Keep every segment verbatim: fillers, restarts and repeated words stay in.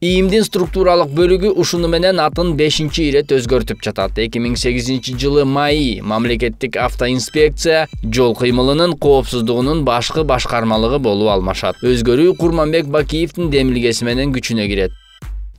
ИИМдин структуралык бөлүгү ушуну менен атын бешинчи ирет өзгөртүп жатат. эки миң сегизинчи жылы майы мамлекеттик автоинспекция жол кыймылынын коопсуздугунун башкы башкармалыгы болуп алмашат. Өзгөрүү Курманбек Бакиевдин демилгеси менен күчүнө кирет.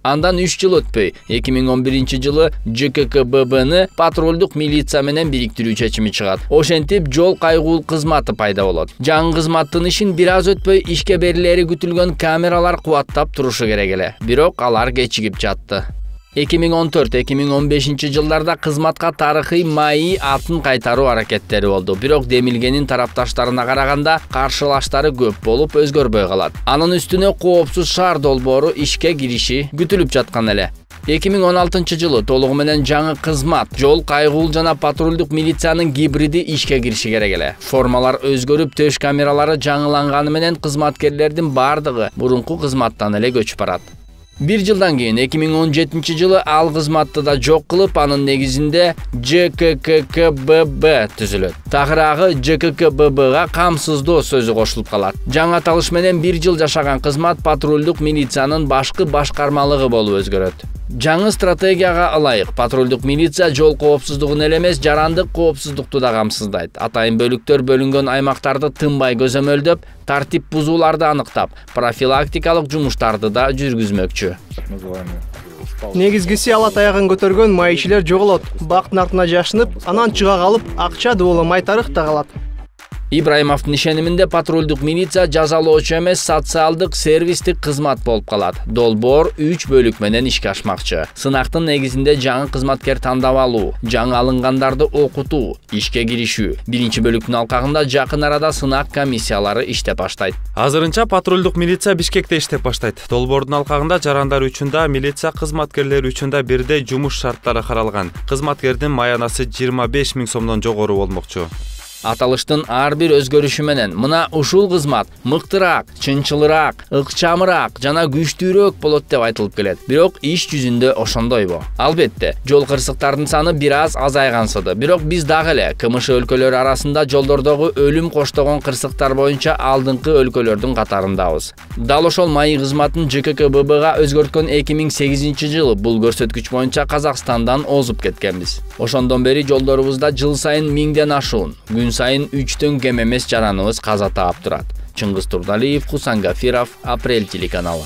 Андан үч жыл өтпөй, эки миң он биринчи жылы ЖККББны патрулдук милиция менен бириктирүү чечими чыгат. Ошентип жол кайгул кызматы пайда болот. Жаңы кызматтын ишин бир аз өтпөй ишке берилери күтүлгөн камералар кубаттап турушу керек эле. Бирок алар кечигип жатты. эки миң он төрт эки миң он бешинчи жылдарда кызматка тарыхый майы атын кайтаруу аракеттери болду. Бирок демилгенин тарапташтарына караганда каршылаштары көп болуп өзгөрбөй калат. Анын үстүнө коопсуз шаар долбоору ишке кириши күтүлүп жаткан эле. эки миң он алтынчы жылы толугу менен жаңы кызмат жол кайгул жана патрулдук милициянын гибриди ишке кириши керек эле. Формалар өзгөрүп, төш камералары жаңыланганы менен кызматкерлердин бардыгы мурунку кызматтан эле көчүп барат. Бир жылдан кийин эки миң он жетинчи жылы ал кызматты да жок кылып, анын негизинде ЖКККББ түзүлөт. Тагыраагы ЖККББга камсыздоо сөзү кошулуп калат. Жаңы аталыш менен бир жыл жашаган кызмат патрулдук милициянын башкы башкармалыгы болуп өзгөрөт. Жаңы стратегияга ылайык патрулдук милиция жол коопсуздугун эле эмес, жарандык коопсуздукту да камсыздайт. Атайын бөлүктөр бөлүнгөн аймактарды тынбай көзөмөлдөп, тартип бузууларды аныктап, профилактикалык жумуштарды да жүргүзмөкчү. Негизгиси ала таягын көтөргөн майышилер жоголот. Бактын артына жашынып, анан чыга калып, акча дууламай тарыхта калат. Ибраимовдун ишениминде патрулдук милиция жазалоочу эмес, социалдык сервистик кызмат болуп калат. Долбоор үч бөлүк менен ишке ашмакчы. Сынактын негизинде жаңы кызматкер тандап алуу, жаңы алынгандарды окутуу, ишке киришүү. Биринчи бөлүктүн алкагында жакын арада сынак комиссиялары иштеп баштайт. Азырынча патрулдук милиция Бишкекте иштеп баштайт. Долбоордун алкагында жарандар үчүн да, милиция кызматкерлери үчүн да бирдей жумуш шарттары каралган. Кызматкердин маянасы жыйырма беш миң сомдон жогору болмокчу. Аталыштын ар бир өзгөрүшү менен мына ушул кызмат мыктыраак, чынчылыраак, ыкчамыраак жана күчтүүрөөк болот деп айтылып келет. Бирок иш жүзүндө ошондойбу? Албетте, жол кырсыктардын саны бир аз азайгансыды. Бирок биз дагы эле КМШ өлкөлөрү арасында жолдордогу өлүм коштогон кырсыктар боюнча алдыңкы өлкөлөрдүн катарындабыз. Дал ошол майы кызматын ЖККББга өзгөрткөн эки миң сегизинчи жылы бул көрсөткүч боюнча Казакстандан озуп кеткенбиз. Ошондон бери жолдорубузда жыл сайын миңден ашуун, күн сайын үчтөн кем эмес жараныбыз каза таап турат. Чыңгыз Турдалиев, Хусан Гафиров, Апрель телеканалы.